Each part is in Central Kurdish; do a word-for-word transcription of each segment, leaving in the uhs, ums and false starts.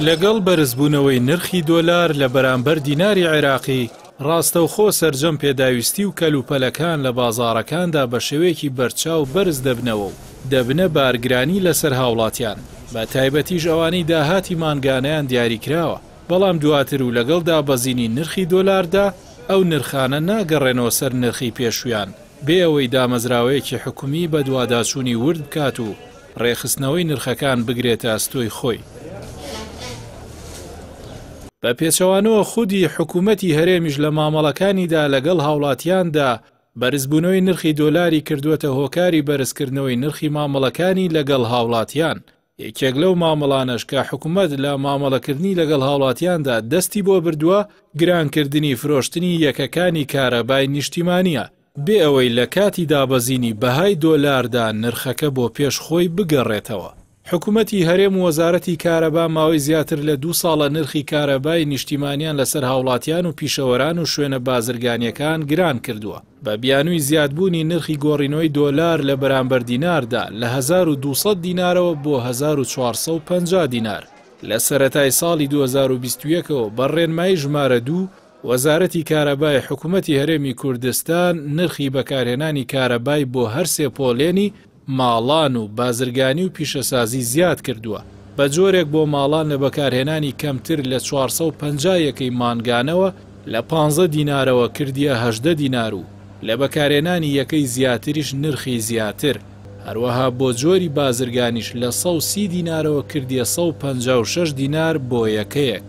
لەگەڵ بەرزبوونەوەی نرخی دۆلار لە بەرامبەر دیناری عێراقی، ڕاستەوخۆ سەرجەم پێداویستی و کەلوپەلەکان لە بازاڕەکاندا بە شێوەیەکی بەرچاو بەرز دەبنەوە و دەبنە بارگرانی لەسەر هاوڵاتیان، بە تایبەتیش ئەوانەی داهاتی مانگانەیان دیاریکراوە. بەڵام دواتر و لەگەڵ دابەزینی نرخی دۆلاردا ئەو نرخانە ناگەڕێنەوە سەر نرخی پێشویان، بێ ئەوەی دامەزراوەیەکی حکومی بەدواداچوونی ورد بکات و ڕێکخستنەوەی نرخەکان بگرێتە ئەستۆی خۆی. بە پێچەوانەوە خودی حکوومەتی هەرێمیش لە مامەڵەکانیدا لەگەڵ هاوڵاتیاندا بەرزبوونەوەی نرخی دۆلاری کردووەتە هۆکاری بەرزکردنەوەی نرخی مامەڵەکانی لەگەڵ هاوڵاتیان. یەکێک لەو مامەڵانەش کە حکوومەت لە مامەڵەکردنی لەگەڵ هاوڵاتیاندا دەستی بۆ بردووە، گرانکردنی فرۆشتنی یەکەکانی کارەبای نیشتیمانیە، بێ ئەوەی لە کاتی دابەزینی بەهای دۆلاردا نرخەکە بۆ پێش خۆی بگەڕێتەوە. حکوومەتی هەرێم و وەزارەتی کارەبا ماوەی زیاتر لە دوو ساڵە نرخی کارەبای نیشتیمانیان لەسەر هاوڵاتیان و پیشەوەران و شوێنە بازرگانیەکان گران کردووە، بە بیانووی زیادبوونی نرخی گۆڕینەوەی دۆلار لە بەرامبەر دیناردا لە هەزار و دوو سەد دینارەوە بۆ هەزار و چوار سەد و پەنجا دینار. لە سەرەتای ساڵی دوو هەزار و بیست و یەک ەوە بە ڕێنمایی ژمارە دوو وەزارەتی کارەبای حکوومەتی هەرێمی کوردستان نرخی بەکارهێنانی کارەبای بۆ هەر سێ پۆلێنی ماڵان و بازرگانی و پیشەسازی زیاد کردووە، بە جۆرێک بۆ ماڵان لە بەکارهێنانی کەمتر لە چوار سەد و پەنجا یەکەی مانگانەوە لە پانزە دینارەوە کردیە هەژدە دینار و لە بەکارهێنانی یەکەی زیاتریش نرخی زیاتر، هەروەها بۆ جۆری بازرگانیش لە سەد و سی دینارەوە کردیە سەد و پەنجا و شەش دینار بۆ یەکەیەک.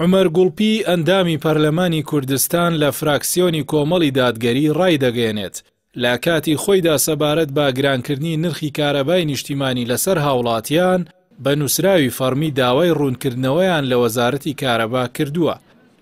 عومەر گوڵپی ئەندامی پەرلەمانی کوردستان لە فراکسیۆنی کۆمەڵی دادگەری ڕایدەگەیەنێت لە کاتی خۆیدا سەبارەت بە گرانکردنی نرخی کارەبای نیشتیمانی لەسەر هاوڵاتیان بە نووسراوی فەڕمی داوای ڕوونکردنەوەیان لە وەزارەتی کارەبا کردووە.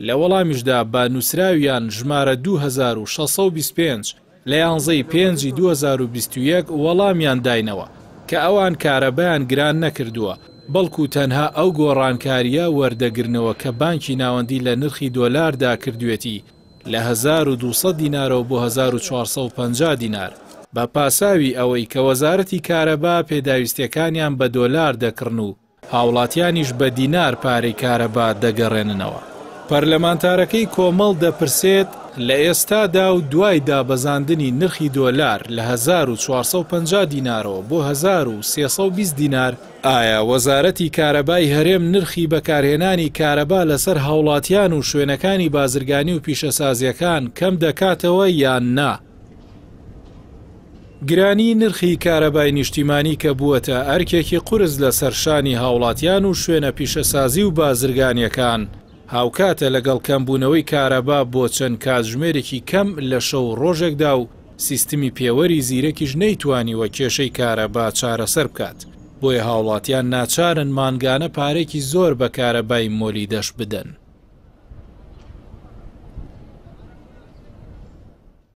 لە وەڵامیشدا بە نووسراویان ژمارە دوو هەزار و شەش سەد و بیست و پێنج لە یانزەی پێنجی دوو هەزار و بیست و یەک وەڵامیان داینەوە کە ئەوان کارەبایان گران نەکردووە، بەڵکو تەنها ئەو گۆڕانکاریە وەردەگرنەوە کە بانکی ناوەندی لە نرخی دۆلاردا کردوێتی لە هەزار و دوو سەد دینارەوە بۆ هەزار و چوار سەد و پەنجا دینار، بە پاساوی ئەوەی کە وەزارەتی کارەبا پێداویستیەکانیان بە دۆلار دەکڕن و هاوڵاتیانیش بە دینار پارەی کارەبا دەگەڕێننەوە. پەرلەمانتارەکەی کۆمەڵ دەپرسێت لە ئێستادا و دوای دابەزاندنی نرخی دۆلار لە هەزار و چوار سەد و پەنجا دینارەوە بۆ هەزار و سێ سەد و بیست دینار، ئایا وەزارەتی کارەبای هەرێم نرخی بەکارهێنانی کارەبا لەسەر هاوڵاتیان و شوێنەکانی بازرگانی و پیشەسازیەکان کەم دەکاتەوە یان نا؟ گرانی نرخی کارەبای نیشتیمانی کە بووەتە ئەرکێکی قورس لەسەر شانی هاوڵاتیان و شوێنە پیشەسازی و بازرگانیەکان، هاوکاتە لەگەڵ کەمبوونەوەی کارەبا بۆ چەند کاتژمێرێکی کەم لە شەو ڕۆژێکدا و سیستمی پێوەری زیرەکیش نەیتوانیوە کێشەی کارەبا چارەسەر بکات، بۆیە هاوڵاتیان ناچارن مانگانە پارێکی زۆر بە کارەبای مۆلیدەش بدەن.